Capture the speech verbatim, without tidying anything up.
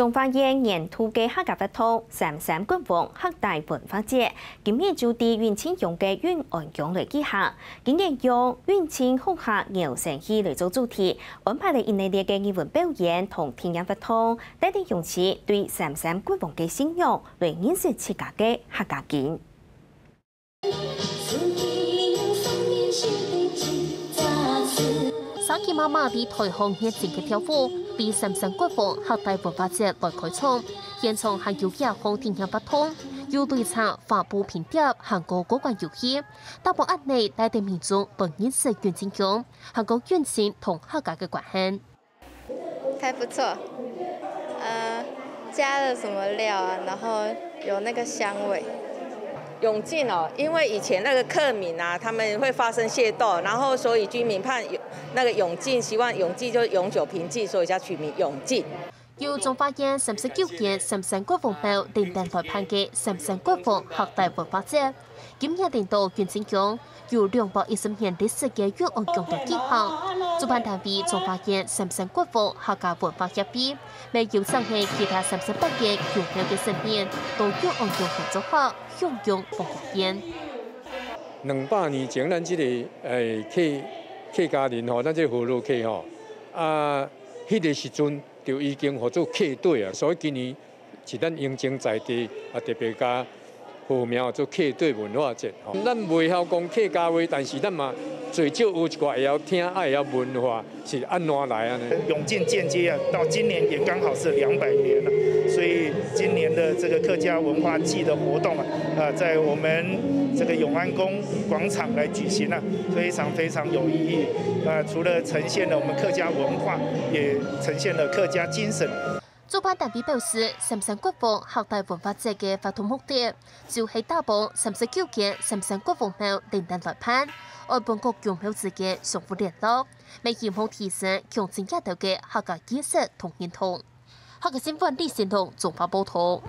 彰化縣年度个客家活動——三山國王客代文化節，今年就在永靖鄉个永安宮來舉行。今年用永靖鄉下搖身戲來做主題，安排了一系列个藝文表演同體驗活動，帶領鄉親對三山國王个信仰來認識自家个客家根。 沙琪媽媽在台項熱情个跳舞，為三山國王客代文化節來開場。現場還有野烘體驗活動，有擂茶、花布拼貼，還過過關遊戲。打扮恁仔，帶領民眾來認識永靖鄉，還過永靖同客家个關係。 還不錯，呃，加了什麼料啊？然後有那個香味。永靖哦，因為以前那個客民啊，他們會發生械鬥，然後所以居民怕永——那個永靖，希望永靖就永久平靜，所以叫取名永靖。由彰化縣三十九間三山國王廟輪等來辦个三山國王客代文化節，今年輪到永靖鄉， 有兩百一十年歷史个永安宮來舉行。主辦單位彰化縣三山國王客家文化協會，乜邀請了其他三十八間宮廟个神明，到永安宮來做客，享用文化宴。兩百年前，咱這个，誒，客——客家人吼，咱這个河洛客吼，啊，彼个時陣就已經號做客對啊，所以今年 是咱永靖在地，啊，特別共號名做客對文化節，吼。咱袂曉講客家話，但是咱嘛最少有一寡會曉聽，啊，會曉文化是按怎來按呢。永靖建街啊，到今年也剛好是兩百年了，所以今年的這個客家文化祭的活動啊，啊，在我們這個永安宮廣場來舉行啊，非常非常有意義。啊，除了呈現了我們客家文化，也呈現了客家精神。 主辦單位表示，三山國王客代文化節个活動目的，就係打幫三十九間三山國王廟輪等來辦，愛分各宮廟之間相互聯絡，乜希望提升鄉親這兜个客家意識同認同。客家新聞李新龍綜合報導。